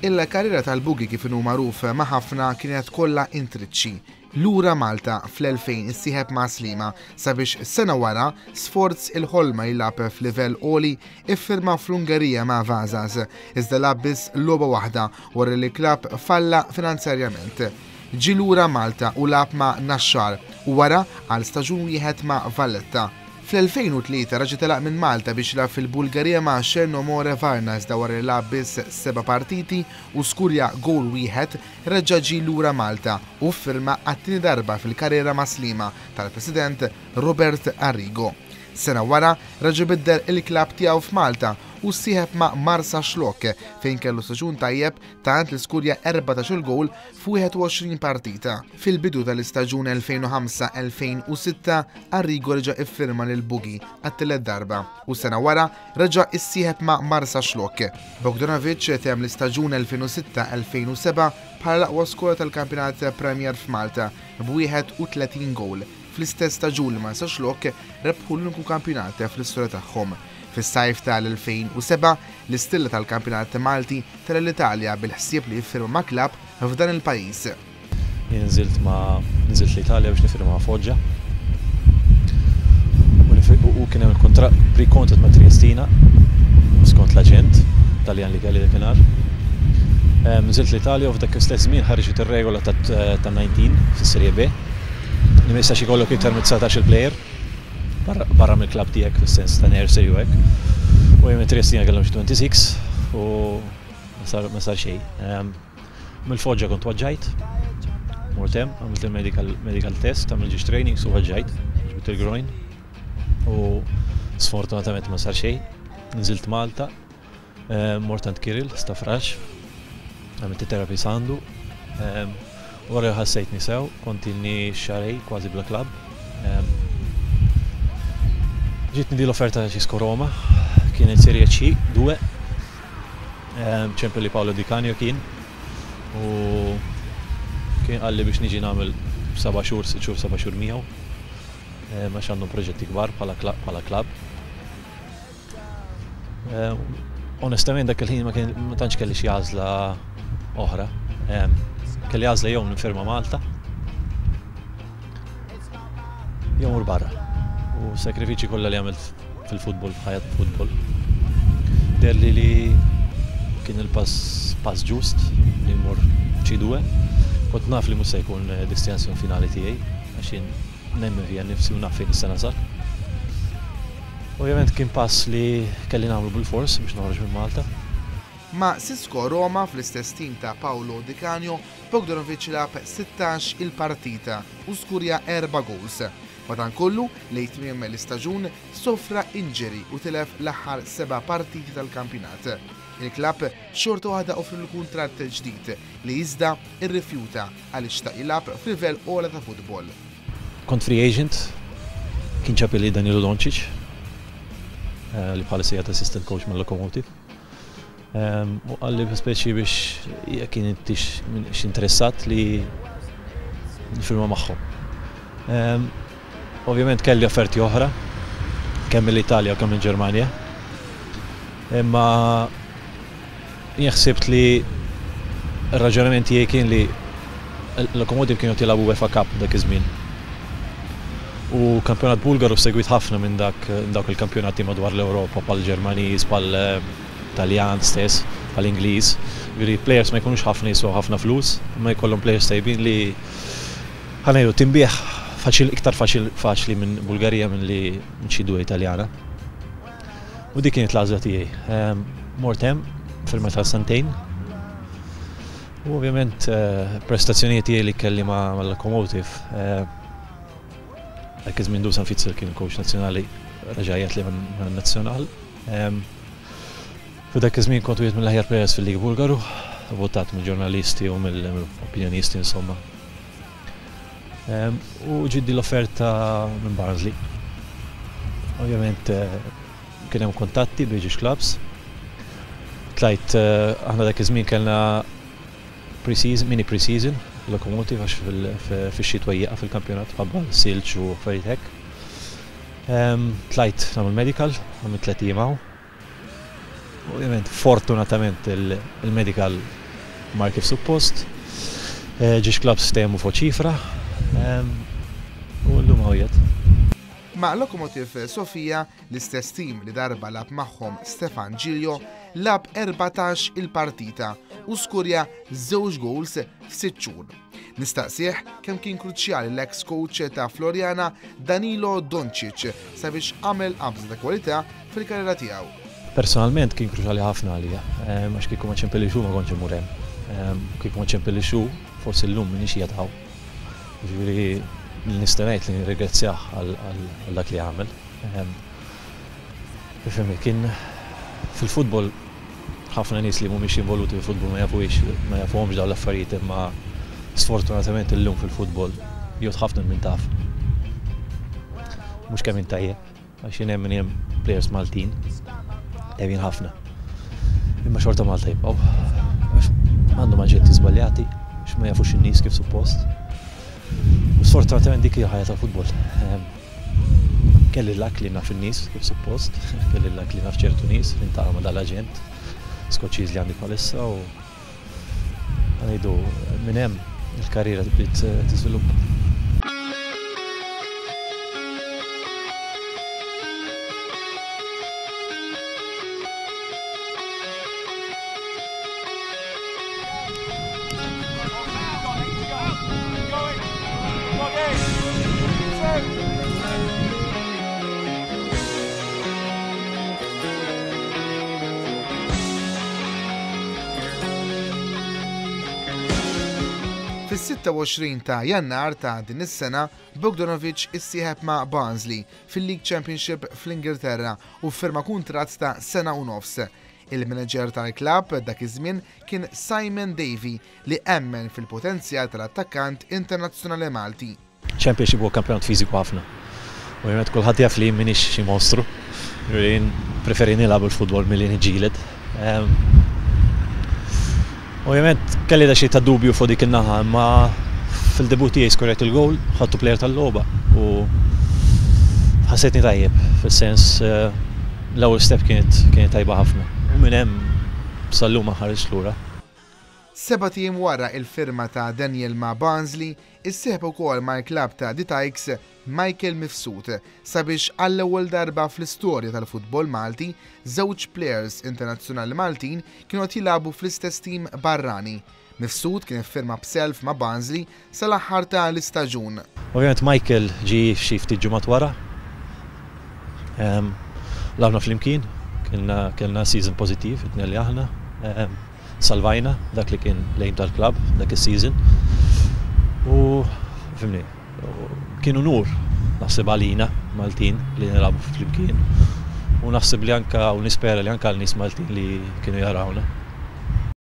Il-karriera tal-Boogie, kif inhu magħruf ma' ħafna, kienet kollha intriċċi. Lura Malta fl-2000 issieħeb ma' Sliema sabiex sena wara, sforz il-ħolma jilgħab f'livell għoli, iffirma fl-Ungerija ma' Vasas, iżda lagħab biss logħba waħda wara li l-klabb falla finanzjarjament. Ġie lura Malta u lagħab ma' Naxxar u wara għal staġun wieħed ma' Valletta. Fl-2003 raġa' telaq minn Malta biex jilgħab fil-Bulgarija ma' Chernomore Varna, iżda wara li lagħab biss seba' partiti u skurja gowl wieħed, reġa' ġie lura Malta u ffirma għat-tieni darba fil-karriera ma' Sliema tal-President Robert Arrigo. Sena wara reġa' biddel il-klabb tiegħu f'Malta u ssieħeb ma' Marsaxlokk fejn kellu staġun tajjeb tant li skurja 14-il gowl f'21 partita. Fil-bidu tal-istaġun 2005-2006, Arrigo reġa' iffirma lil Boogie għat-tielet darba u sena wara reġa' issieħeb ma' Marsaxlokk. Bogdanovic temm l-istaġun 2006-2007 bħala l-aqwa skorer tal-Kampjonat Premier f'Malta b'31 gowl, fl-istess staġun li Marsaxlokk rebħu l-uniku kampjonat fl-istorja tagħhom. Fis-sajf tal-2007, l-istilla tal-kampjonat Malti tela' l-Italja bil-ħsieb li jiffirma ma' klabb f'dan il-pajjiż. Jien nżilt ma' nżilt l-Italja biex nifirma ma' Foggia u kien hemm il-kuntratt pre-contract ma' Triestina skont l-aġent Taljan li kelli dakinhar. Nżilt l-Italja u f'dak l-istess żmien ħarġet ir-regola ta' 19 fis-Serie B li ma jistax ikollok iktar minn 19-il player barra mill-klabb tiegħek fis-sens ta' nursery u hekk. U jien Triestina kellhom xi 26 u ma sar xejn. Mill-Foġġa kont waġġajt, mort hemm, għamilt il-medical medical test, għamilt ġiex trainings u waġġajt, ġbidt il-groin u sfortunatament ma sar xejn. Nżilt Malta, mort għand Kirill Stafrax, għamilt it-therapy għandu. Wara li ħassejtni sew, kont ilni xahrejn kważi bla klabb. Ġietni di l-offerta ta' Cisco Roma, kienet Serie C 2. Ċempel li Paolo Di Canio kien u kien qalli biex niġi nagħmel seba' xhur, sitt xhur, seba' xhur miegħu għax għandhom proġetti kbar bħala klabb. Onestament dak il-ħin ma kien ma tantx kelli xi għażla oħra. Kelli għażla jew nifirma Malta jew mur barra. U sakrifiċi kollha li għamilt fil-futbol, f'ħajja futbol. Deherli li kien il-pass pass ġust li mmur C2. Kont naf li mhux se jkun destinazzjoni finali tiegħi għax jien nemmen fija nnifsi u naf fejn nista' nasal. Ovvjament kien pass li kelli nagħmlu bil-fors biex noħroġ minn Malta. Ma' Cisco Roma fl-istess tim ta' Paolo Di Canio, Bogdanovic lagħab 16 il-partita u skurja erba' gowls. Madankollu, lejn tmiem l-istaġun sofra injury u tilef l-aħħar seba' partiti tal-kampjonat. Il-klabb xorta waħda offrilu kuntratt ġdid li iżda rrifjuta għaliex xtaq jilgħab f'livell ogħla ta' futbol. Kont free agent, kien ċapili Danilo Doncic, li bħalissa qiegħed assistant coach mal-Lokomotiv. U qalli speċi biex jekk intix interessat li nifirma magħhom. Ovvjament kelli offerti oħra, kemm mill-Italja u kemm mill-Ġermanja. Imma jien ħsibt li r-raġunament tiegħi kien li l-Lokomotiv kienu jilagħbu UEFA Cup dak iż-żmien. U kampjonat Bulgaru segwit ħafna minn dak dawk il-kampjonati madwar l-Ewropa bħal Ġermaniż, bħal Taljan stess, bħal Ingliż. Ġifieri players ma jkunux ħafna jiswew ħafna flus, imma jkollhom players tajbin li ħa ngħidu tinbiegħ faċil iktar faċil faċli minn Bulgarija minn li minn xi due Italjana. U dik kienet l-għażla tiegħi. Mort hemm firma ta' sentejn. U ovvjament prestazzjonijiet tiegħi li kelli ma' Lokomotiv. Dak iż-żmien Dusan Fitzel kien coach nazzjonali reġa' li man-nazzjonal. F'dak iż-żmien kont wieħed mill-aħjar players fil-Liga Bulgaru, votat mill-ġurnalisti u mill-opinjonisti insomma. U ġietni l-offerta minn Barnsley. Ovvjament kien hemm kuntatti bejn żewġ clubs. Tlajt aħna dak iż-żmien kellna pre-season, mini pre-season, Lokomotiv għax fix-xitwa jieqaf il-kampjonat ħabba silġ u affarijiet hekk. Tlajt nagħmel medical, għamilt tliet ijiem hawn. Ovvjament, fortunatament il-medical mar kif suppost. Ġiex clubs ftehmu fuq ċifra u llum hawn qiegħed. Ma' Lokomotiv Sofia, l-istess tim li darba lagħab magħhom Stefan Giglio, lagħab 14 il-partita u skurja żewġ goals f'sitt xhur. Nistaqsih kemm kien kruċjali l-eks coach ta' Floriana Danilo Doncic sabiex għamel qabża ta' kwalità fil-karriera tiegħu. Personalment kien kruċjali ħafna għalija, għax kieku ma ċempillix hu ma kontx immur hemm. Kieku ma ċempillix hu, forsi llum m'iniex qiegħed hawn. Jiġifieri nista' ngħid li nirringrazzjah għal dak li għamel. Ifhimni, kien fil-futbol ħafna nies li mhumiex involuti fil-futbol ma jafuhiex, ma jafuhomx dawn l-affarijiet imma sfortunatament illum fil-futbol jgħod ħafna min taf. Mhux kemm int tajjeb, għax jien nemmen hemm players Maltin tajbin ħafna. Imma xorta Malta jibqgħu. Għax għandhom aġenti żbaljati, għax ma jafux in-nies kif suppost. U sfortunatament dik hija ħajja tal-futbol. Kelli l-luck li naf in-nies kif suppost, kelli l-luck li naf ċertu nies li ntaqa' ma' dal-aġent Skoċċiż li għandi bħalissa u ngħidu minn hemm il-karriera bdiet tiżviluppa. Fis-26 ta' Jannar ta' din is-sena, Bogdanovic issieħeb ma' Barnsley fil-League Championship fl-Ingilterra u ffirma kuntratt ta' sena u nofs. Il-manager tal-klabb dak iż-żmien kien Simon Davey li emmen fil-potenzjal tal-attakkant internazzjonali Malti. Championship huwa kampjonat fiżiku ħafna. Ovvjament kulħadd jaf li jien m'iniex xi mostru. Jien preferi nilgħab il-futbol milli niġġieled. Ovvjament kelli daqsxejn ta' dubju fuq dik in-naħa, imma fil-debut tiegħi skorjajt il-gowl, ħadtu plejer tal-logħba u ħassejtni tajjeb, fis-sens l-ewwel step kienet kienet tajba ħafna. U minn hemm sal-lum ma nħarisx lura. Sebat ijiem wara il-firma ta' Daniel ma' Barnsley, issieħeb ukoll mal-klabb ta' The Tykes Michael Mifsud sabiex għall-ewwel darba fl-istorja tal-futbol Malti, żewġ plejers internazzjonali Maltin kienu qed jilagħbu fl-istess tim barrani. Mifsud kien iffirma b'self ma' Barnsley sal-aħħar ta' l-istaġun. Ovvjament Michael ġie xi ftit ġimgħat wara. Lagħabna flimkien, kellna season pożittiv it-tnejn li aħna. Salvajna dak li kien l-aim tal-klabb dak is-season. U fimni, kien unur naħseb għalina Maltin li nilagħbu flimkien. U naħseb li anka u nispera li anka għal nies Maltin li kienu jarawna.